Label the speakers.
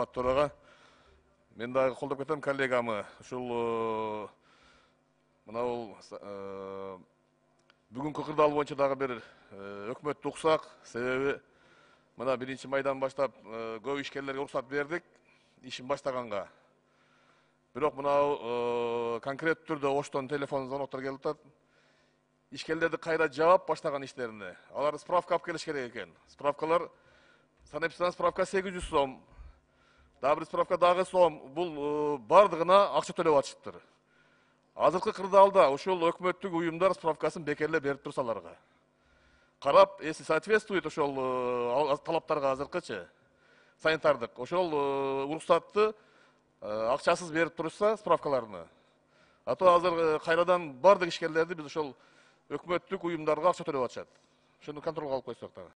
Speaker 1: урматтуу төрага. Мен дагы колдоп кетем коллегамы. Ушул мынабул бүгүнкү кырдаал боюнча дагы бир өкмөттү уксак, себеби мына 1-майдан баштап көп ишкерлерге уруксат бердик, ишин баштаганга. Бирок мынау конкреттүү түрдө оштон телефон звоноктор келип атат. Ишкерлерди кайра жаап баштаган иштерине. Алар справка алып келиш керек экен. Справкалар санэпидстан справка 800 сом. Дагы бир справка дагы сом. Бул бардыгына акча төлөп атышыптыр. Азыркы кырдаалда ушул өкмөттүк уюмдар справкасын бекерлеп берип турса аларга. Карап, если соответствует ошол талаптарга азыркычы санитардык, ошол уруксатты акчасыз берип турушса справкаларını. А то азыр кайрадан бардык ишкерлерди биз ошол өкмөттүк уюмдарга акча төлөп атышат. Ошону контролго алып койсок дагы.